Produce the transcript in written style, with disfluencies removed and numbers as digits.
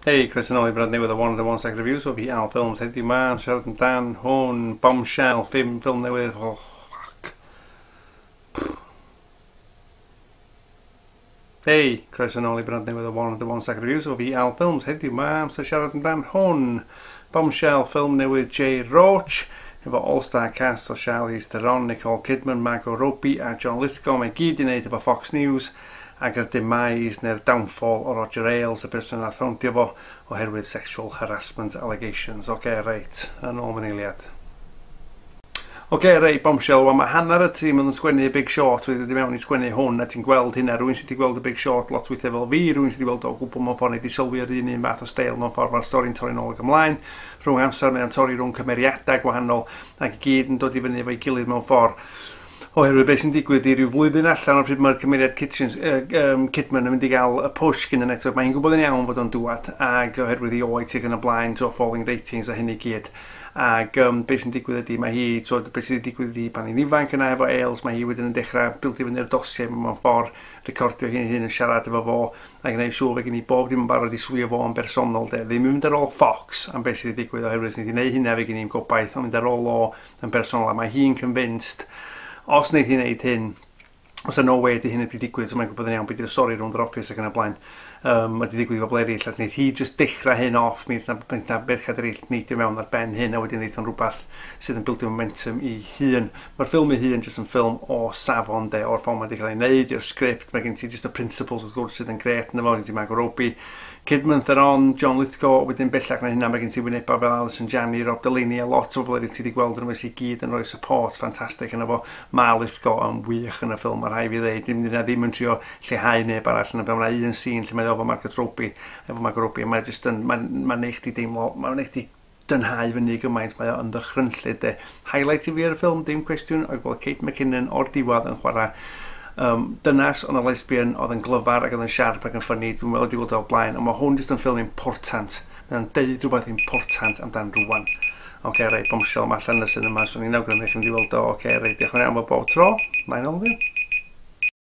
Hei, croeso nôl i brand newydd o 101 Second Reviews o fi, Al Films. Heddiw 'ma yn siarad amdan hwn, Bombshell, ffilm newydd. Oh, fuck. Hei, croeso nôl i brand newydd o 101 Second Reviews o fi, Al Films. Heddiw 'ma yn siarad amdan hwn, Bombshell, ffilm newydd Jay Roach, efo all-star cast o Charlize Theron, Nicole Kidman, Margot Robbie a John Lithgow. Mae gyd i wneud efo Fox News ac yr demise neu'r downfall o Roger Ailes, y person nath foundio fo oherwydd sexual harassment allegations. Oce, reit, yn ôl mewn eiliad. Oce, reit, Bombshell, wel mae hanner y tîm yn sgwennu Big Short wedi dod i mewn i sgwennu hwn, a ti'n gweld hynna, rhywun sydd wedi gweld y Big Short lot weithiau fel fi, rhywun sydd wedi gweld o gwbl mewn ffordd, neu wedi sylwi ar un fath o steil mewn ffordd, mae'r stori'n torri'n ôl ac ymlaen, rhwng amser mae'n torri rhwng cymeriadau gwahanol, ac i gyd yn dod i fyny efo'i gilydd mewn ffordd. Oherwydd beth sy'n digwydd i ryw flwyddyn allan o'r pryd mae'r cymeriad Kidman yn mynd i gael y push gyn y network, mae hi'n gwybod yn iawn fod o'n dŵad, ac oherwydd i oed sydd yn y blaen, to falling ratings a hynny gyd. Ac beth sy'n digwydd ydy, mae hi, so, beth sy'n digwydd ydy pan hi'n ifanc yna efo Ailes, mae hi wedyn yn dechrau bildio fyny'r dossier mewn ffordd, recordio hi'n hun yn siarad efo fo, a gwneud siŵr fe gen i bob dim yn barod i swio fo yn bersonol de. Ddim yn mynd ar ôl Fox am beth sydd wedi digwydd, oherwydd sydd wedi gwneud hynna fe gen i'n gobaith, ond mynd ar ôl o yn bersonol, a mae hi'n convinced os wneud hi'n neud hyn, os yna no way di hyn wedi digwydd, so mae'n gwybod yn iawn beth yw'r stori rownd yr office ac yn y blaen. Mae wedi digwydd i bobl eraill, a wneud hi just dechrau hyn off, mi wnaeth merched eraill neidio mewn ar ben hyn, a wedyn wneud o'n rhywbeth sydd yn bildio momentum i hun. Mae'r ffilm ei hun just yn ffilm o safon de, o'r ffordd mae wedi cael ei wneud, i'r sgript, mae gen ti just y principles wrth gwrs sydd yn gret ynddo fo, gen ti Margot Robbie, Kidman, Theron, John Lithgow, wedyn bellach na hynna mae gen ti wynebau fel Alison Janney, Rob Delaney a lot o bobl eraill ti wedi gweld yn sydd gyd yn rhoi support ffantastig yna fo. Mae Lithgow yn wych yn y ffilm, mae rhaid fi ddeud, dim ddim yn trio lleihau neb arall yn y ffilm. Mae un scene lle mae efo Margot Robbie, mae just yn, mae'n neud chdi deimlo, mae'n neud chdi dynhau fyny gymaint, mae o'n ddychrynllyd de. Highlight i fi ar y ffilm, dim cwestiwn, oedd gweld Kate McKinnon o'r diwedd yn chwarae dynas ond y lesbian oedd yn glyfar ac oedd yn siarp ac yn ffynnu, dwi'n meddwl wedi gweld o blaen, ond mae hwn jyst yn ffilm important. Mae'n deud rhywbeth important amdan rwan. Oce, reit, Bombshell, mae allan yn y cinema, so ni'n awgrymu chi'n mynd i weld o. Oce, reit, diolch yn iawn bob tro. Na'n ôl fi.